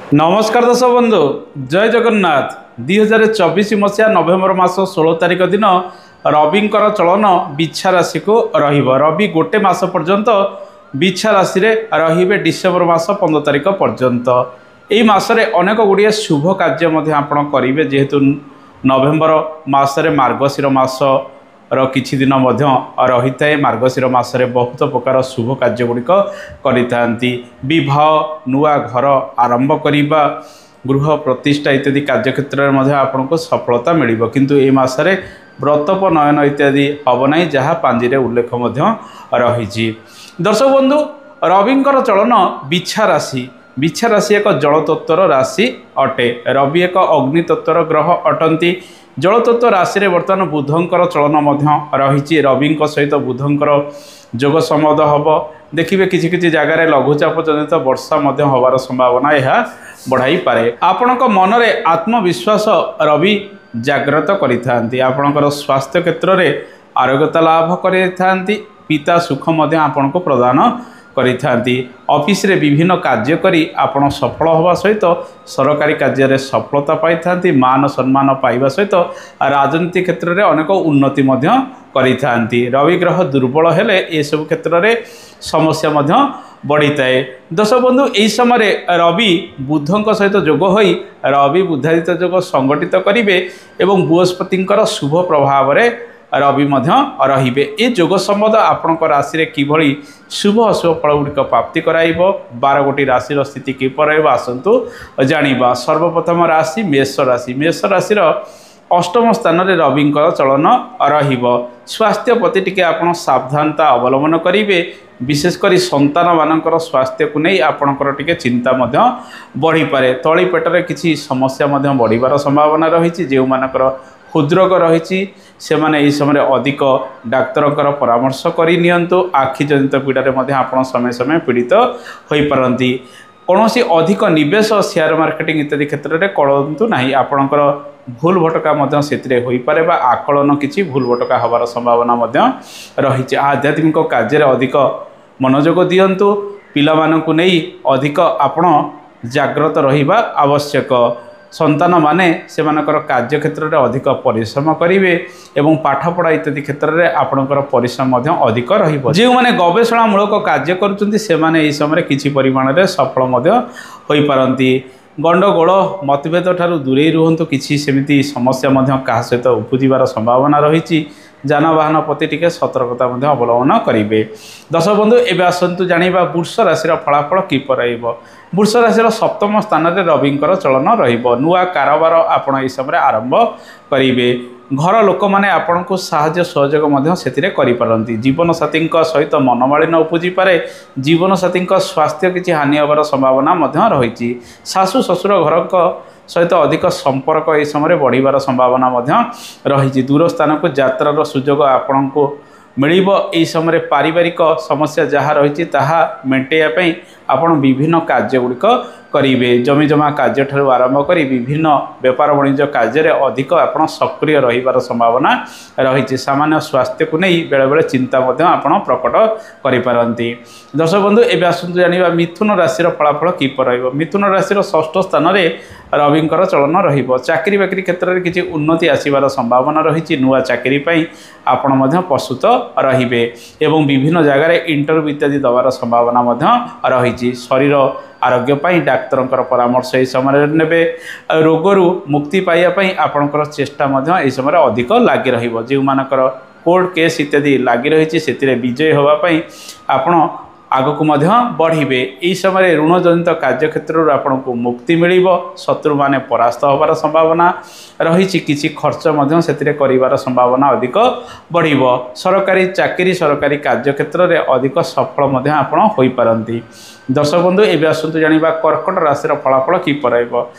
ନମସ୍କାର ଦର୍ଶକ ବନ୍ଧୁ, ଜୟ ଜଗନ୍ନାଥ। 2024 ମସିହା ନଭେମ୍ବର ମାସ 16 ତାରିଖ ଦିନ ରବିଙ୍କର ଚଳନ ବିଛା ରାଶିକୁ ରହିବ। ରବି ଗୋଟେ ମାସ ପର୍ଯ୍ୟନ୍ତ ବିଛା ରାଶିରେ ରହିବେ, ଡିସେମ୍ବର ମାସ 15 ତାରିଖ ପର୍ଯ୍ୟନ୍ତ। ଏହି ମାସରେ ଅନେକ ଗୁଡ଼ିଏ ଶୁଭ କାର୍ଯ୍ୟ ମଧ୍ୟ ଆପଣ କରିବେ, ଯେହେତୁ ନଭେମ୍ବର ମାସରେ ମାର୍ଗଶିର ମାସର କିଛି ଦିନ ମଧ୍ୟ ରହିଥାଏ। ମାର୍ଗଶିର ମାସରେ ବହୁତ ପ୍ରକାର ଶୁଭ କାର୍ଯ୍ୟ ଗୁଡ଼ିକ କରିଥାନ୍ତି। ବିବାହ, ନୂଆ ଘର ଆରମ୍ଭ କରିବା, ଗୃହ ପ୍ରତିଷ୍ଠା ଇତ୍ୟାଦି କାର୍ଯ୍ୟକ୍ଷେତ୍ରରେ ମଧ୍ୟ ଆପଣଙ୍କୁ ସଫଳତା ମିଳିବ। କିନ୍ତୁ ଏହି ମାସରେ ବ୍ରତୋପନୟନ ଇତ୍ୟାଦି ହେବ ନାହିଁ, ଯାହା ପାଞ୍ଜିରେ ଉଲ୍ଲେଖ ମଧ୍ୟ ରହିଛି। ଦର୍ଶକ ବନ୍ଧୁ, ରବିଙ୍କର ଚଳନ ବିଛା ରାଶି। ବିଛା ରାଶି ଏକ ଜଳତତ୍ତ୍ୱର ରାଶି ଅଟେ। ରବି ଏକ ଅଗ୍ନିତତ୍ତ୍ୱର ଗ୍ରହ ଅଟନ୍ତି। ଜଳତତ୍ତ୍ୱ ରାଶିରେ ବର୍ତ୍ତମାନ ବୁଧଙ୍କର ଚଳନ ମଧ୍ୟ ରହିଛି। ରବିଙ୍କ ସହିତ ବୁଧଙ୍କର ଯୋଗ ସମ୍ବନ୍ଧ ହେବ। ଦେଖିବେ, କିଛି କିଛି ଜାଗାରେ ଲଘୁଚାପ ଜନିତ ବର୍ଷା ମଧ୍ୟ ହେବାର ସମ୍ଭାବନା ଏହା ବଢ଼ାଇପାରେ। ଆପଣଙ୍କ ମନରେ ଆତ୍ମବିଶ୍ୱାସ ରବି ଜାଗ୍ରତ କରିଥାନ୍ତି। ଆପଣଙ୍କର ସ୍ୱାସ୍ଥ୍ୟ କ୍ଷେତ୍ରରେ ଆରୋଗ୍ୟତା ଲାଭ କରିଥାନ୍ତି। ପିତା ସୁଖ ମଧ୍ୟ ଆପଣଙ୍କୁ ପ୍ରଦାନ କରିଥାନ୍ତି। ଅଫିସରେ ବିଭିନ୍ନ କାର୍ଯ୍ୟ କରି ଆପଣ ସଫଳ ହେବା ସହିତ ସରକାରୀ କାର୍ଯ୍ୟରେ ସଫଳତା ପାଇଥାନ୍ତି। ମାନ ସମ୍ମାନ ପାଇବା ସହିତ ରାଜନୀତି କ୍ଷେତ୍ରରେ ଅନେକ ଉନ୍ନତି ମଧ୍ୟ କରିଥାନ୍ତି। ରବି ଗ୍ରହ ଦୁର୍ବଳ ହେଲେ ଏସବୁ କ୍ଷେତ୍ରରେ ସମସ୍ୟା ମଧ୍ୟ ବଢ଼ିଥାଏ। ଦର୍ଶକ ବନ୍ଧୁ, ଏହି ସମୟରେ ରବି ବୁଧଙ୍କ ସହିତ ଯୋଗ ହୋଇ ରବି ବୁଧାଦିତ୍ୟ ଯୋଗ ସଂଗଠିତ କରିବେ ଏବଂ ବୃହସ୍ପତିଙ୍କର ଶୁଭ ପ୍ରଭାବରେ ରବି ମଧ୍ୟ ରହିବେ। ଏ ଯୋଗ ସମ୍ବନ୍ଧ ଆପଣଙ୍କ ରାଶିରେ କିଭଳି ଶୁଭ ଅଶୁଭ ଫଳ ଗୁଡ଼ିକ ପ୍ରାପ୍ତି କରାଇବ, 12 ଗୋଟି ରାଶିର ସ୍ଥିତି କିପରି ରହିବ, ଆସନ୍ତୁ ଜାଣିବା। ସର୍ବପ୍ରଥମ ରାଶି ମେଷ ରାଶି। ମେଷ ରାଶିର ଅଷ୍ଟମ ସ୍ଥାନରେ ରବିଙ୍କର ଚଳନ ରହିବ। ସ୍ୱାସ୍ଥ୍ୟ ପ୍ରତି ଟିକେ ଆପଣ ସାବଧାନତା ଅବଲମ୍ବନ କରିବେ। ବିଶେଷ କରି ସନ୍ତାନମାନଙ୍କର ସ୍ୱାସ୍ଥ୍ୟକୁ ନେଇ ଆପଣଙ୍କର ଟିକେ ଚିନ୍ତା ମଧ୍ୟ ବଢ଼ିପାରେ। ତଳି ପେଟରେ କିଛି ସମସ୍ୟା ମଧ୍ୟ ବଢ଼ିବାର ସମ୍ଭାବନା ରହିଛି। ଯେଉଁମାନଙ୍କର ହୃଦରୋଗ ରହିଛି, ସେମାନେ ଏହି ସମୟରେ ଅଧିକ ଡାକ୍ତରଙ୍କର ପରାମର୍ଶ କରି ନିଅନ୍ତୁ। ଆଖିଜନିତ ପୀଡ଼ାରେ ମଧ୍ୟ ଆପଣ ସମୟ ସମୟ ପୀଡ଼ିତ ହୋଇପାରନ୍ତି। କୌଣସି ଅଧିକ ନିବେଶ ସେୟାର ମାର୍କେଟିଂ ଇତ୍ୟାଦି କ୍ଷେତ୍ରରେ କରନ୍ତୁ ନାହିଁ। ଆପଣଙ୍କର ଭୁଲ ଭଟକା ମଧ୍ୟ ସେଥିରେ ହୋଇପାରେ ବା ଆକଳନ କିଛି ଭୁଲ ଭଟକା ହେବାର ସମ୍ଭାବନା ମଧ୍ୟ ରହିଛି। ଆଧ୍ୟାତ୍ମିକ କାର୍ଯ୍ୟରେ ଅଧିକ ମନୋଯୋଗ ଦିଅନ୍ତୁ। ପିଲାମାନଙ୍କୁ ନେଇ ଅଧିକ ଆପଣ ଜାଗ୍ରତ ରହିବା ଆବଶ୍ୟକ। ସନ୍ତାନମାନେ ସେମାନଙ୍କର କାର୍ଯ୍ୟକ୍ଷେତ୍ରରେ ଅଧିକ ପରିଶ୍ରମ କରିବେ ଏବଂ ପାଠପଢ଼ା ଇତ୍ୟାଦି କ୍ଷେତ୍ରରେ ଆପଣଙ୍କର ପରିଶ୍ରମ ମଧ୍ୟ ଅଧିକ ରହିବ। ଯେଉଁମାନେ ଗବେଷଣାମୂଳକ କାର୍ଯ୍ୟ କରୁଛନ୍ତି, ସେମାନେ ଏହି ସମୟରେ କିଛି ପରିମାଣରେ ସଫଳ ମଧ୍ୟ ହୋଇପାରନ୍ତି। ଗଣ୍ଡଗୋଳ ମତଭେଦ ଠାରୁ ଦୂରେଇ ରୁହନ୍ତୁ। କିଛି ସେମିତି ସମସ୍ୟା ମଧ୍ୟ କାହା ସହିତ ଉପୁଜିବାର ସମ୍ଭାବନା ରହିଛି। ଯାନବାହନ ପ୍ରତି ଟିକେ ସତର୍କତା ମଧ୍ୟ ଅବଲମ୍ବନ କରିବେ। ଦର୍ଶକ ବନ୍ଧୁ, ଏବେ ଆସନ୍ତୁ ଜାଣିବା ବୃଷ ରାଶିର ଫଳାଫଳ କିପରି ରହିବ। ବୃଷ ରାଶିର ସପ୍ତମ ସ୍ଥାନରେ ରବିଙ୍କର ଚଳନ ରହିବ। ନୂଆ କାରବାର ଆପଣ ଏହି ସମୟରେ ଆରମ୍ଭ କରିବେ। ଘର ଲୋକମାନେ ଆପଣଙ୍କୁ ସାହାଯ୍ୟ ସହଯୋଗ ମଧ୍ୟ ସେଥିରେ କରିପାରନ୍ତି। ଜୀବନସାଥୀଙ୍କ ସହିତ ମନମାଳିନ୍ୟ ଉପୁଜିପାରେ। ଜୀବନସାଥୀଙ୍କ ସ୍ୱାସ୍ଥ୍ୟ କିଛି ହାନି ହେବାର ସମ୍ଭାବନା ମଧ୍ୟ ରହିଛି। ଶାଶୁ ଶ୍ୱଶୁର ଘରଙ୍କ ସହିତ ଅଧିକ ସମ୍ପର୍କ ଏହି ସମୟରେ ବଢ଼ିବାର ସମ୍ଭାବନା ମଧ୍ୟ ରହିଛି। ଦୂର ସ୍ଥାନକୁ ଯାତ୍ରାର ସୁଯୋଗ ଆପଣଙ୍କୁ ମିଳିବ। ଏହି ସମୟରେ ପାରିବାରିକ ସମସ୍ୟା ଯାହା ରହିଛି, ତାହା ମେଣ୍ଟେଇବା ପାଇଁ ଆପଣ ବିଭିନ୍ନ କାର୍ଯ୍ୟ ଗୁଡ଼ିକ କରିବେ। ଜମିଜମା କାର୍ଯ୍ୟଠାରୁ ଆରମ୍ଭ କରି ବିଭିନ୍ନ ବେପାର ବାଣିଜ୍ୟ କାର୍ଯ୍ୟରେ ଅଧିକ ଆପଣ ସକ୍ରିୟ ରହିବାର ସମ୍ଭାବନା ରହିଛି। ସାମାନ୍ୟ ସ୍ୱାସ୍ଥ୍ୟକୁ ନେଇ ବେଳେବେଳେ ଚିନ୍ତା ମଧ୍ୟ ଆପଣ ପ୍ରକଟ କରିପାରନ୍ତି। ଦର୍ଶକ ବନ୍ଧୁ, ଏବେ ଆସନ୍ତୁ ଜାଣିବା ମିଥୁନ ରାଶିର ଫଳାଫଳ କିପରି ରହିବ। ମିଥୁନ ରାଶିର ଷଷ୍ଠ ସ୍ଥାନରେ ରବିଙ୍କର ଚଳନ ରହିବ। ଚାକିରି ବାକିରି କ୍ଷେତ୍ରରେ କିଛି ଉନ୍ନତି ଆସିବାର ସମ୍ଭାବନା ରହିଛି। ନୂଆ ଚାକିରି ପାଇଁ ଆପଣ ମଧ୍ୟ ପ୍ରସ୍ତୁତ ରହିବେ ଏବଂ ବିଭିନ୍ନ ଜାଗାରେ ଇଣ୍ଟରଭ୍ୟୁ ଇତ୍ୟାଦି ଦେବାର ସମ୍ଭାବନା ମଧ୍ୟ ରହିଛି। ଶରୀର ଆରୋଗ୍ୟ ପାଇଁ ଡାକ୍ତରଙ୍କର ପରାମର୍ଶ ଏହି ସମୟରେ ନେବେ। ରୋଗରୁ ମୁକ୍ତି ପାଇବା ପାଇଁ ଆପଣଙ୍କର ଚେଷ୍ଟା ମଧ୍ୟ ଏହି ସମୟରେ ଅଧିକ ଲାଗି ରହିବ। ଯେଉଁମାନଙ୍କର କୋର୍ଟ କେସ୍ ଇତ୍ୟାଦି ଲାଗି ରହିଛି, ସେଥିରେ ବିଜୟୀ ହେବା ପାଇଁ ଆପଣ ଆଗକୁ ମଧ୍ୟ ବଢ଼ିବେ। ଏହି ସମୟରେ ଋଣଜନିତ କାର୍ଯ୍ୟକ୍ଷେତ୍ରରୁ ଆପଣଙ୍କୁ ମୁକ୍ତି ମିଳିବ। ଶତ୍ରୁମାନେ ପରାସ୍ତ ହେବାର ସମ୍ଭାବନା ରହିଛି। କିଛି ଖର୍ଚ୍ଚ ମଧ୍ୟ ସେଥିରେ କରିବାର ସମ୍ଭାବନା ଅଧିକ ବଢ଼ିବ। ସରକାରୀ ଚାକିରି, ସରକାରୀ କାର୍ଯ୍ୟକ୍ଷେତ୍ରରେ ଅଧିକ ସଫଳ ମଧ୍ୟ ଆପଣ ହୋଇପାରନ୍ତି। ଦର୍ଶକ ବନ୍ଧୁ, ଏବେ ଆସନ୍ତୁ ଜାଣିବା କର୍କଟ ରାଶିର ଫଳାଫଳ କିପରି ରହିବ।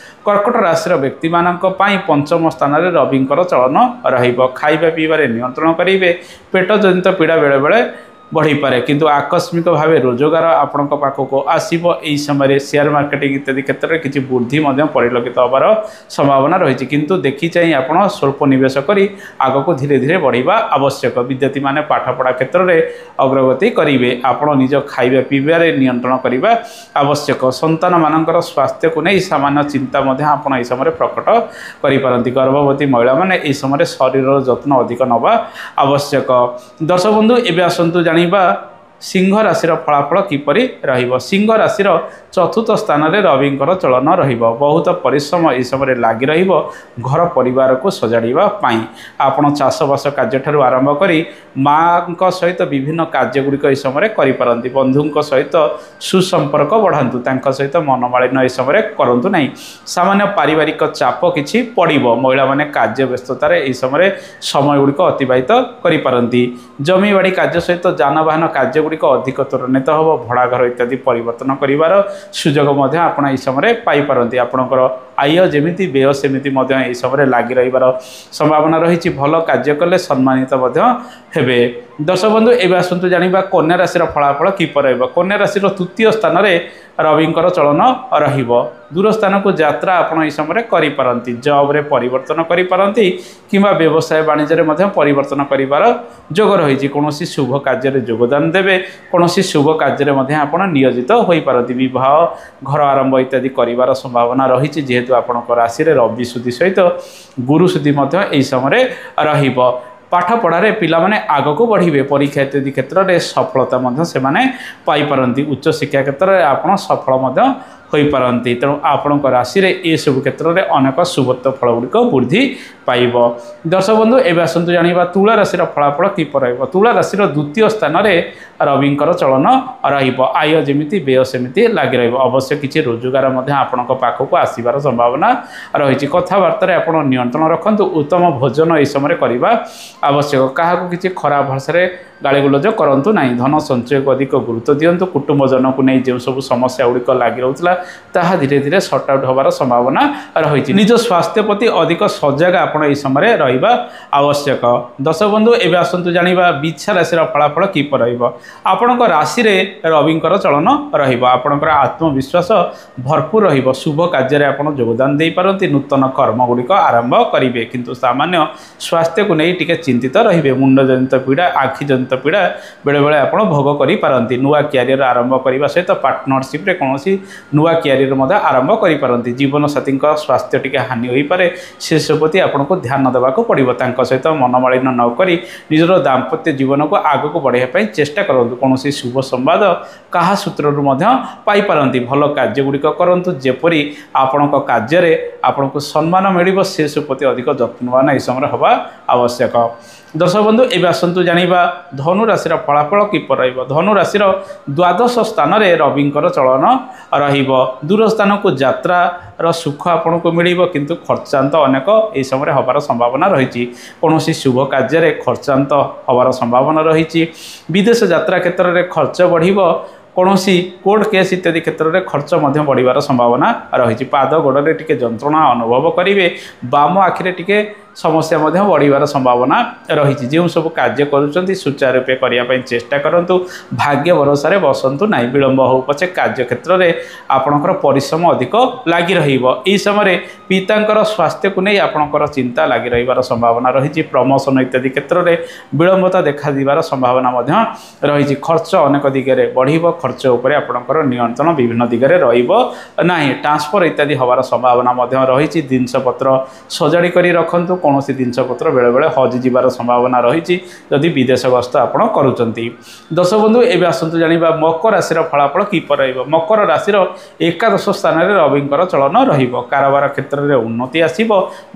କର୍କଟ ରାଶିର ବ୍ୟକ୍ତିମାନଙ୍କ ପାଇଁ ପଞ୍ଚମ ସ୍ଥାନରେ ରବିଙ୍କର ଚଳନ ରହିବ। ଖାଇବା ପିଇବାରେ ନିୟନ୍ତ୍ରଣ କରିବେ। ପେଟ ଜନିତ ପୀଡ଼ା ବେଳେବେଳେ ବଢ଼ିପାରେ, କିନ୍ତୁ ଆକସ୍ମିକ ଭାବେ ରୋଜଗାର ଆପଣଙ୍କ ପାଖକୁ ଆସିବ। ଏହି ସମୟରେ ସେୟାର ମାର୍କେଟିଂ ଇତ୍ୟାଦି କ୍ଷେତ୍ରରେ କିଛି ବୃଦ୍ଧି ମଧ୍ୟ ପରିଲକ୍ଷିତ ହେବାର ସମ୍ଭାବନା ରହିଛି, କିନ୍ତୁ ଦେଖି ଚାହିଁ ଆପଣ ସ୍ୱଳ୍ପ ନିବେଶ କରି ଆଗକୁ ଧୀରେ ଧୀରେ ବଢ଼ିବା ଆବଶ୍ୟକ। ବିଦ୍ୟାର୍ଥୀମାନେ ପାଠପଢ଼ା କ୍ଷେତ୍ରରେ ଅଗ୍ରଗତି କରିବେ। ଆପଣ ନିଜ ଖାଇବା ପିଇବାରେ ନିୟନ୍ତ୍ରଣ କରିବା ଆବଶ୍ୟକ। ସନ୍ତାନମାନଙ୍କର ସ୍ୱାସ୍ଥ୍ୟକୁ ନେଇ ସାମାନ୍ୟ ଚିନ୍ତା ମଧ୍ୟ ଆପଣ ଏହି ସମୟରେ ପ୍ରକଟ କରିପାରନ୍ତି। ଗର୍ଭବତୀ ମହିଳାମାନେ ଏହି ସମୟରେ ଶରୀରର ଯତ୍ନ ଅଧିକ ନେବା ଆବଶ୍ୟକ। ଦର୍ଶକ ବନ୍ଧୁ, ଏବେ ଆସନ୍ତୁ ଜାଣିବା ସିଂହ ରାଶିର ଫଳାଫଳ କିପରି ରହିବ। ସିଂହ ରାଶିର ଚତୁର୍ଥ ସ୍ଥାନରେ ରବିଙ୍କର ଚଳନ ରହିବ। ବହୁତ ପରିଶ୍ରମ ଏହି ସମୟରେ ଲାଗି ରହିବ ଘର ପରିବାରକୁ ସଜାଡ଼ିବା ପାଇଁ। ଆପଣ ଚାଷବାସ କାର୍ଯ୍ୟଠାରୁ ଆରମ୍ଭ କରି ମାଆଙ୍କ ସହିତ ବିଭିନ୍ନ କାର୍ଯ୍ୟଗୁଡ଼ିକ ଏହି ସମୟରେ କରିପାରନ୍ତି। ବନ୍ଧୁଙ୍କ ସହିତ ସୁସମ୍ପର୍କ ବଢ଼ାନ୍ତୁ, ତାଙ୍କ ସହିତ ମନମାଳିନ୍ୟ ଏହି ସମୟରେ କରନ୍ତୁ ନାହିଁ। ସାମାନ୍ୟ ପାରିବାରିକ ଚାପ କିଛି ପଡ଼ିବ। ମହିଳାମାନେ କାର୍ଯ୍ୟ ବ୍ୟସ୍ତତାରେ ଏହି ସମୟରେ ସମୟ ଗୁଡ଼ିକ ଅତିବାହିତ କରିପାରନ୍ତି। ଜମିବାଡ଼ି କାର୍ଯ୍ୟ ସହିତ ଯାନବାହନ କାର୍ଯ୍ୟଗୁଡ଼ିକ ଅଧିକ ତ୍ୱରାନ୍ୱିତ ହେବ। ଭଡ଼ା ଘର ଇତ୍ୟାଦି ପରିବର୍ତ୍ତନ କରିବାର ସୁଯୋଗ ମଧ୍ୟ ଆପଣ ଏହି ସମୟରେ ପାଇପାରନ୍ତି। ଆପଣଙ୍କର ଆୟ ଯେମିତି ବ୍ୟୟ ସେମିତି ମଧ୍ୟ ଏହି ସମୟରେ ଲାଗି ରହିବାର ସମ୍ଭାବନା ରହିଛି। ଭଲ କାର୍ଯ୍ୟ କଲେ ସମ୍ମାନିତ ମଧ୍ୟ ହେବେ। ଦର୍ଶକ ବନ୍ଧୁ, ଏବେ ଆସନ୍ତୁ ଜାଣିବା କନ୍ୟା ରାଶିର ଫଳାଫଳ କିପରି ରହିବ। କନ୍ୟା ରାଶିର ତୃତୀୟ ସ୍ଥାନରେ ରବିଙ୍କର ଚଳନ ରହିବ। ଦୂର ସ୍ଥାନକୁ ଯାତ୍ରା ଆପଣ ଏହି ସମୟରେ କରିପାରନ୍ତି। ଜବ୍ରେ ପରିବର୍ତ୍ତନ କରିପାରନ୍ତି କିମ୍ବା ବ୍ୟବସାୟ ବାଣିଜ୍ୟରେ ମଧ୍ୟ ପରିବର୍ତ୍ତନ କରିବାର ଯୋଗ ରହିଛି। କୌଣସି ଶୁଭ କାର୍ଯ୍ୟରେ ଯୋଗଦାନ ଦେବେ। କୌଣସି ଶୁଭ କାର୍ଯ୍ୟରେ ମଧ୍ୟ ଆପଣ ନିୟୋଜିତ ହୋଇପାରନ୍ତି। ବିବାହ, ଘର ଆରମ୍ଭ ଇତ୍ୟାଦି କରିବାର ସମ୍ଭାବନା ରହିଛି, ଯେହେତୁ ଆପଣଙ୍କ ରାଶିରେ ରବି ସୁଧି ସହିତ ଗୁରୁ ସୁଧି ମଧ୍ୟ ଏହି ସମୟରେ ରହିବ। ପାଠପଢ଼ାରେ ପିଲାମାନେ ଆଗକୁ ବଢ଼ିବେ। ପରୀକ୍ଷା ଇତ୍ୟାଦି କ୍ଷେତ୍ରରେ ସଫଳତା ମଧ୍ୟ ସେମାନେ ପାଇପାରନ୍ତି। ଉଚ୍ଚଶିକ୍ଷା କ୍ଷେତ୍ରରେ ଆପଣ ସଫଳ ମଧ୍ୟ ହୋଇପାରନ୍ତି। ତେଣୁ ଆପଣଙ୍କ ରାଶିରେ ଏସବୁ କ୍ଷେତ୍ରରେ ଅନେକ ଶୁଭତ୍ୱ ଫଳ ଗୁଡ଼ିକ ବୃଦ୍ଧି ପାଇବ। ଦର୍ଶକ ବନ୍ଧୁ, ଏବେ ଆସନ୍ତୁ ଜାଣିବା ତୁଳା ରାଶିର ଫଳାଫଳ କିପରି ରହିବ। ତୁଳା ରାଶିର ଦ୍ୱିତୀୟ ସ୍ଥାନରେ ରବିଙ୍କର ଚଳନ ରହିବ। ଆୟ ଯେମିତି ବ୍ୟୟ ସେମିତି ଲାଗି ରହିବ। ଅବଶ୍ୟ କିଛି ରୋଜଗାର ମଧ୍ୟ ଆପଣଙ୍କ ପାଖକୁ ଆସିବାର ସମ୍ଭାବନା ରହିଛି। କଥାବାର୍ତ୍ତାରେ ଆପଣ ନିୟନ୍ତ୍ରଣ ରଖନ୍ତୁ। ଉତ୍ତମ ଭୋଜନ ଏହି ସମୟରେ କରିବା ଆବଶ୍ୟକ। କାହାକୁ କିଛି ଖରାପ ଭାଷାରେ ଗାଳିଗୁଲଜ କରନ୍ତୁ ନାହିଁ। ଧନ ସଞ୍ଚୟକୁ ଅଧିକ ଗୁରୁତ୍ୱ ଦିଅନ୍ତୁ। କୁଟୁମ୍ବଜନକୁ ନେଇ ଯେଉଁ ସବୁ ସମସ୍ୟା ଗୁଡ଼ିକ ଲାଗି ରହୁଥିଲା ତାହା ଧୀରେ ଧୀରେ ସର୍ଟ ଆଉଟ୍ ହେବାର ସମ୍ଭାବନା ରହିଛି। ନିଜ ସ୍ୱାସ୍ଥ୍ୟ ପ୍ରତି ଅଧିକ ସଜାଗ ଆପଣ ଏହି ସମୟରେ ରହିବା ଆବଶ୍ୟକ। ଦର୍ଶକ ବନ୍ଧୁ, ଏବେ ଆସନ୍ତୁ ଜାଣିବା ବିଛା ରାଶିର ଫଳାଫଳ କିପରି ରହିବ। ଆପଣଙ୍କ ରାଶିରେ ରବିଙ୍କର ଚଳନ ରହିବ। ଆପଣଙ୍କର ଆତ୍ମବିଶ୍ୱାସ ଭରପୁର ରହିବ। ଶୁଭ କାର୍ଯ୍ୟରେ ଆପଣ ଯୋଗଦାନ ଦେଇପାରନ୍ତି। ନୂତନ କର୍ମ ଗୁଡ଼ିକ ଆରମ୍ଭ କରିବେ, କିନ୍ତୁ ସାମାନ୍ୟ ସ୍ୱାସ୍ଥ୍ୟକୁ ନେଇ ଟିକେ ଚିନ୍ତିତ ରହିବେ। ମୁଣ୍ଡଜନିତ ପୀଡ଼ା, ଆଖିଜନିତ ପୀଡ଼ା ବେଳେବେଳେ ଆପଣ ଭୋଗ କରିପାରନ୍ତି। ନୂଆ କ୍ୟାରିୟର ଆରମ୍ଭ କରିବା ସହିତ ପାର୍ଟନରସିପ୍ରେ କୌଣସି ନୂଆ କ୍ୟାରିୟର ମଧ୍ୟ ଆରମ୍ଭ କରିପାରନ୍ତି। ଜୀବନସାଥୀଙ୍କ ସ୍ୱାସ୍ଥ୍ୟ ଟିକେ ହାନି ହୋଇପାରେ, ସେସବୁ ପ୍ରତି ଆପଣଙ୍କୁ ଧ୍ୟାନ ଦେବାକୁ ପଡ଼ିବ। ତାଙ୍କ ସହିତ ମନମାଳିନ୍ୟ ନ କରି ନିଜର ଦାମ୍ପତ୍ୟ ଜୀବନକୁ ଆଗକୁ ବଢ଼ାଇବା ପାଇଁ ଚେଷ୍ଟା କରନ୍ତୁ। କୌଣସି ଶୁଭ ସମ୍ବାଦ କାହା ସୂତ୍ରରୁ ମଧ୍ୟ ପାଇପାରନ୍ତି। ଭଲ କାର୍ଯ୍ୟଗୁଡ଼ିକ କରନ୍ତୁ, ଯେପରି ଆପଣଙ୍କ କାର୍ଯ୍ୟରେ ଆପଣଙ୍କୁ ସମ୍ମାନ ମିଳିବ, ସେସବୁ ପ୍ରତି ଅଧିକ ଯତ୍ନବାନ ଏହି ସମୟରେ ହେବା ଆବଶ୍ୟକ। ଦର୍ଶକ ବନ୍ଧୁ, ଏବେ ଆସନ୍ତୁ ଜାଣିବା ଧନୁ ରାଶିର ଫଳାଫଳ କିପରି ରହିବ। ଧନୁ ରାଶିର ଦ୍ୱାଦଶ ସ୍ଥାନରେ ରବିଙ୍କର ଚଳନ ରହିବ। ଦୂର ସ୍ଥାନକୁ ଯାତ୍ରାର ସୁଖ ଆପଣଙ୍କୁ ମିଳିବ, କିନ୍ତୁ ଖର୍ଚ୍ଚାନ୍ତ ଅନେକ ଏହି ସମୟରେ ହେବାର ସମ୍ଭାବନା ରହିଛି। କୌଣସି ଶୁଭ କାର୍ଯ୍ୟରେ ଖର୍ଚ୍ଚାନ୍ତ ହେବାର ସମ୍ଭାବନା ରହିଛି। ବିଦେଶ ଯାତ୍ରା କ୍ଷେତ୍ରରେ ଖର୍ଚ୍ଚ ବଢ଼ିବ। କୌଣସି କୋର୍ଟ କେସ୍ ଇତ୍ୟାଦି କ୍ଷେତ୍ରରେ ଖର୍ଚ୍ଚ ମଧ୍ୟ ବଢ଼ିବାର ସମ୍ଭାବନା ରହିଛି। ପାଦ ଗୋଡ଼ରେ ଟିକେ ଯନ୍ତ୍ରଣା ଅନୁଭବ କରିବେ। ବାମ ଆଖିରେ ଟିକେ ସମସ୍ୟା ମଧ୍ୟ ବଢ଼ିବାର ସମ୍ଭାବନା ରହିଛି। ଯେଉଁ ସବୁ କାର୍ଯ୍ୟ କରୁଛନ୍ତି ସୁଚାରୁ ରୂପେ କରିବା ପାଇଁ ଚେଷ୍ଟା କରନ୍ତୁ। ଭାଗ୍ୟ ଭରସାରେ ବସନ୍ତୁ ନାହିଁ। ବିଳମ୍ବ ହେଉ ପଛେ କାର୍ଯ୍ୟକ୍ଷେତ୍ରରେ ଆପଣଙ୍କର ପରିଶ୍ରମ ଅଧିକ ଲାଗି ରହିବ। ଏହି ସମୟରେ ପିତାଙ୍କର ସ୍ୱାସ୍ଥ୍ୟକୁ ନେଇ ଆପଣଙ୍କର ଚିନ୍ତା ଲାଗି ରହିବାର ସମ୍ଭାବନା ରହିଛି। ପ୍ରମୋସନ ଇତ୍ୟାଦି କ୍ଷେତ୍ରରେ ବିଳମ୍ବତା ଦେଖାଯିବାର ସମ୍ଭାବନା ମଧ୍ୟ ରହିଛି। ଖର୍ଚ୍ଚ ଅନେକ ଦିଗରେ ବଢ଼ିବ। ଖର୍ଚ୍ଚ ଉପରେ ଆପଣଙ୍କର ନିୟନ୍ତ୍ରଣ ବିଭିନ୍ନ ଦିଗରେ ରହିବ ନାହିଁ। ଟ୍ରାନ୍ସଫର ଇତ୍ୟାଦି ହେବାର ସମ୍ଭାବନା ମଧ୍ୟ ରହିଛି। ଜିନିଷପତ୍ର ସଜାଡ଼ି କରି ରଖନ୍ତୁ। କୌଣସି ଜିନିଷପତ୍ର ବେଳେବେଳେ ହଜିଯିବାର ସମ୍ଭାବନା ରହିଛି ଯଦି ବିଦେଶ ଗସ୍ତ ଆପଣ କରୁଛନ୍ତି। ଦର୍ଶକ ବନ୍ଧୁ, ଏବେ ଆସନ୍ତୁ ଜାଣିବା ମକର ରାଶିର ଫଳାଫଳ କିପରି ରହିବ। ମକର ରାଶିର ଏକାଦଶ ସ୍ଥାନରେ ରବିଙ୍କର ଚଳନ ରହିବ। କାରବାର କ୍ଷେତ୍ରରେ ଉନ୍ନତି ଆସିବ।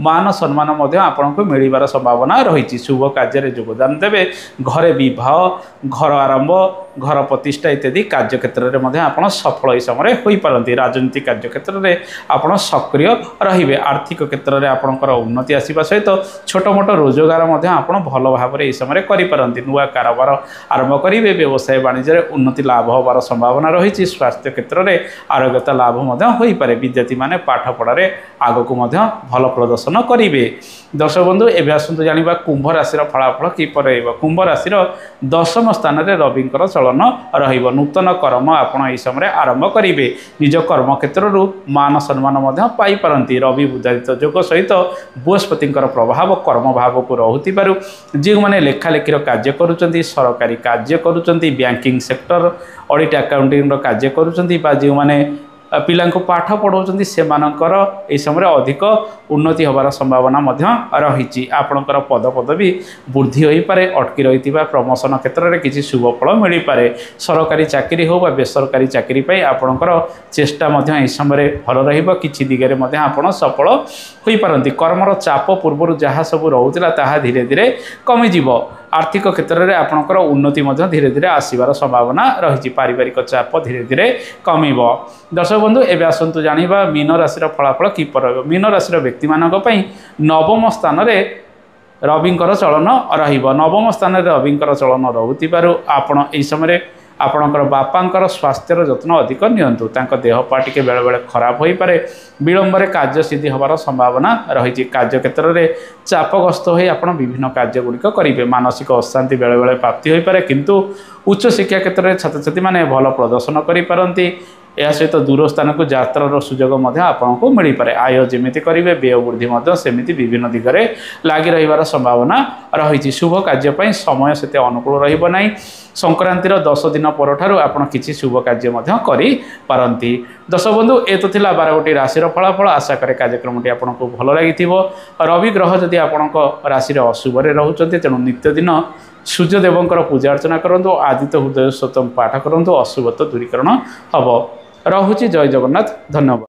ମାନ ସମ୍ମାନ ମଧ୍ୟ ଆପଣଙ୍କୁ ମିଳିବାର ସମ୍ଭାବନା ରହିଛି। ଶୁଭ କାର୍ଯ୍ୟରେ ଯୋଗଦାନ ଦେବେ। ଘରେ ବିବାହ, ଘର ଆରମ୍ଭ, ଘର ପ୍ରତିଷ୍ଠା ଇତ୍ୟାଦି କାର୍ଯ୍ୟକ୍ଷେତ୍ରରେ ମଧ୍ୟ ଆପଣ ସଫଳ ଏହି ସମୟରେ ହୋଇପାରନ୍ତି। ରାଜନୀତି କାର୍ଯ୍ୟକ୍ଷେତ୍ରରେ ଆପଣ ସକ୍ରିୟ ରହିବେ। ଆର୍ଥିକ କ୍ଷେତ୍ରରେ ଆପଣଙ୍କର ଉନ୍ନତି ଆସିବା ସହିତ ସହିତ ଛୋଟ ମୋଟ ରୋଜଗାର ମଧ୍ୟ ଆପଣ ଭଲ ଭାବରେ ଏହି ସମୟରେ କରିପାରନ୍ତି। ନୂଆ କାରବାର ଆରମ୍ଭ କରିବେ। ବ୍ୟବସାୟ ବାଣିଜ୍ୟରେ ଉନ୍ନତି ଲାଭ ହେବାର ସମ୍ଭାବନା ରହିଛି। ସ୍ୱାସ୍ଥ୍ୟ କ୍ଷେତ୍ରରେ ଆରୋଗ୍ୟତା ଲାଭ ମଧ୍ୟ ହୋଇପାରେ। ବିଦ୍ୟାର୍ଥୀମାନେ ପାଠପଢ଼ାରେ ଆଗକୁ ମଧ୍ୟ ଭଲ ପ୍ରଦର୍ଶନ କରିବେ। ଦର୍ଶକ ବନ୍ଧୁ, ଏବେ ଆସନ୍ତୁ ଜାଣିବା କୁମ୍ଭ ରାଶିର ଫଳାଫଳ କିପରି ରହିବ। କୁମ୍ଭ ରାଶିର ଦଶମ ସ୍ଥାନରେ ରବିଙ୍କର ଚଳନ ରହିବ। ନୂତନ କର୍ମ ଆପଣ ଏହି ସମୟରେ ଆରମ୍ଭ କରିବେ। ନିଜ କର୍ମକ୍ଷେତ୍ରରୁ ମାନ ସମ୍ମାନ ମଧ୍ୟ ପାଇପାରନ୍ତି। ରବି ବୁଧାଦିତ୍ୟ ଯୋଗ ସହିତ ବୃହସ୍ପତିଙ୍କର ପ୍ରଭାବ କର୍ମଭାବକୁ ରହୁଥିବାରୁ ଯେଉଁମାନେ ଲେଖାଲେଖିର କାର୍ଯ୍ୟ କରୁଛନ୍ତି, ସରକାରୀ କାର୍ଯ୍ୟ କରୁଛନ୍ତି, ବ୍ୟାଙ୍କିଂ ସେକ୍ଟର, ଅଡ଼ିଟ୍ ଆକାଉଣ୍ଟିଂର କାର୍ଯ୍ୟ କରୁଛନ୍ତି ବା ଯେଉଁମାନେ ପିଲାଙ୍କୁ ପାଠ ପଢ଼ାଉଛନ୍ତି, ସେମାନଙ୍କର ଏହି ସମୟରେ ଅଧିକ ଉନ୍ନତି ହେବାର ସମ୍ଭାବନା ମଧ୍ୟ ରହିଛି। ଆପଣଙ୍କର ପଦପଦବୀ ବୃଦ୍ଧି ହୋଇପାରେ। ଅଟକି ରହିଥିବା ପ୍ରମୋସନ କ୍ଷେତ୍ରରେ କିଛି ଶୁଭ ଫଳ ମିଳିପାରେ। ସରକାରୀ ଚାକିରି ହେଉ ବା ବେସରକାରୀ ଚାକିରି ପାଇଁ ଆପଣଙ୍କର ଚେଷ୍ଟା ମଧ୍ୟ ଏହି ସମୟରେ ଭଲ ରହିବ। କିଛି ଦିଗରେ ମଧ୍ୟ ଆପଣ ସଫଳ ହୋଇପାରନ୍ତି। କର୍ମର ଚାପ ପୂର୍ବରୁ ଯାହା ସବୁ ରହୁଥିଲା ତାହା ଧୀରେ ଧୀରେ କମିଯିବ। ଆର୍ଥିକ କ୍ଷେତ୍ରରେ ଆପଣଙ୍କର ଉନ୍ନତି ମଧ୍ୟ ଧୀରେ ଧୀରେ ଆସିବାର ସମ୍ଭାବନା ରହିଛି। ପାରିବାରିକ ଚାପ ଧୀରେ ଧୀରେ କମିବ। ଦର୍ଶକ ବନ୍ଧୁ, ଏବେ ଆସନ୍ତୁ ଜାଣିବା ମୀନ ରାଶିର ଫଳାଫଳ କିପରି ରହିବ। ମୀନ ରାଶିର ବ୍ୟକ୍ତିମାନଙ୍କ ପାଇଁ ନବମ ସ୍ଥାନରେ ରବିଙ୍କର ଚଳନ ରହିବ। ନବମ ସ୍ଥାନରେ ରବିଙ୍କର ଚଳନ ରହୁଥିବାରୁ ଆପଣ ଏହି ସମୟରେ ଆପଣଙ୍କର ବାପାଙ୍କର ସ୍ୱାସ୍ଥ୍ୟର ଯତ୍ନ ଅଧିକ ନିଅନ୍ତୁ। ତାଙ୍କ ଦେହ ପା ଟିକେ ବେଳେବେଳେ ଖରାପ ହୋଇପାରେ। ବିଳମ୍ବରେ କାର୍ଯ୍ୟ ସିଦ୍ଧି ହେବାର ସମ୍ଭାବନା ରହିଛି। କାର୍ଯ୍ୟକ୍ଷେତ୍ରରେ ଚାପଗ୍ରସ୍ତ ହୋଇ ଆପଣ ବିଭିନ୍ନ କାର୍ଯ୍ୟ ଗୁଡ଼ିକ କରିବେ। ମାନସିକ ଅଶାନ୍ତି ବେଳେବେଳେ ପ୍ରାପ୍ତି ହୋଇପାରେ, କିନ୍ତୁ ଉଚ୍ଚଶିକ୍ଷା କ୍ଷେତ୍ରରେ ଛାତ୍ରଛାତ୍ରୀମାନେ ଭଲ ପ୍ରଦର୍ଶନ କରିପାରନ୍ତି। ଏହା ସହିତ ଦୂର ସ୍ଥାନକୁ ଯାତ୍ରାର ସୁଯୋଗ ମଧ୍ୟ ଆପଣଙ୍କୁ ମିଳିପାରେ। ଆୟ ଯେମିତି କରିବେ, ବ୍ୟୟ ବୃଦ୍ଧି ମଧ୍ୟ ସେମିତି ବିଭିନ୍ନ ଦିଗରେ ଲାଗି ରହିବାର ସମ୍ଭାବନା ରହିଛି। ଶୁଭ କାର୍ଯ୍ୟ ପାଇଁ ସମୟ ସେତେ ଅନୁକୂଳ ରହିବ ନାହିଁ। ସଂକ୍ରାନ୍ତିର 10 ଦିନ ପରଠାରୁ ଆପଣ କିଛି ଶୁଭ କାର୍ଯ୍ୟ ମଧ୍ୟ କରିପାରନ୍ତି। ଦର୍ଶକ ବନ୍ଧୁ, ଏ ତ ଥିଲା 12ଗୋଟି ରାଶିର ଫଳାଫଳ। ଆଶା କରେ କାର୍ଯ୍ୟକ୍ରମଟି ଆପଣଙ୍କୁ ଭଲ ଲାଗିଥିବ। ରବି ଗ୍ରହ ଯଦି ଆପଣଙ୍କ ରାଶିରେ ଅଶୁଭରେ ରହୁଛନ୍ତି, ତେଣୁ ନିତ୍ୟ ଦିନ ସୂର୍ଯ୍ୟଦେବଙ୍କର ପୂଜା ଅର୍ଚ୍ଚନା କରନ୍ତୁ, ଆଦିତ୍ୟ ହୃଦୟ ସ୍ତୋତ୍ର ପାଠ କରନ୍ତୁ, ଅଶୁଭତ୍ୱ ଦୂରୀକରଣ ହେବ। ରହୁଛି, ଜୟ ଜଗନ୍ନାଥ, ଧନ୍ୟବାଦ।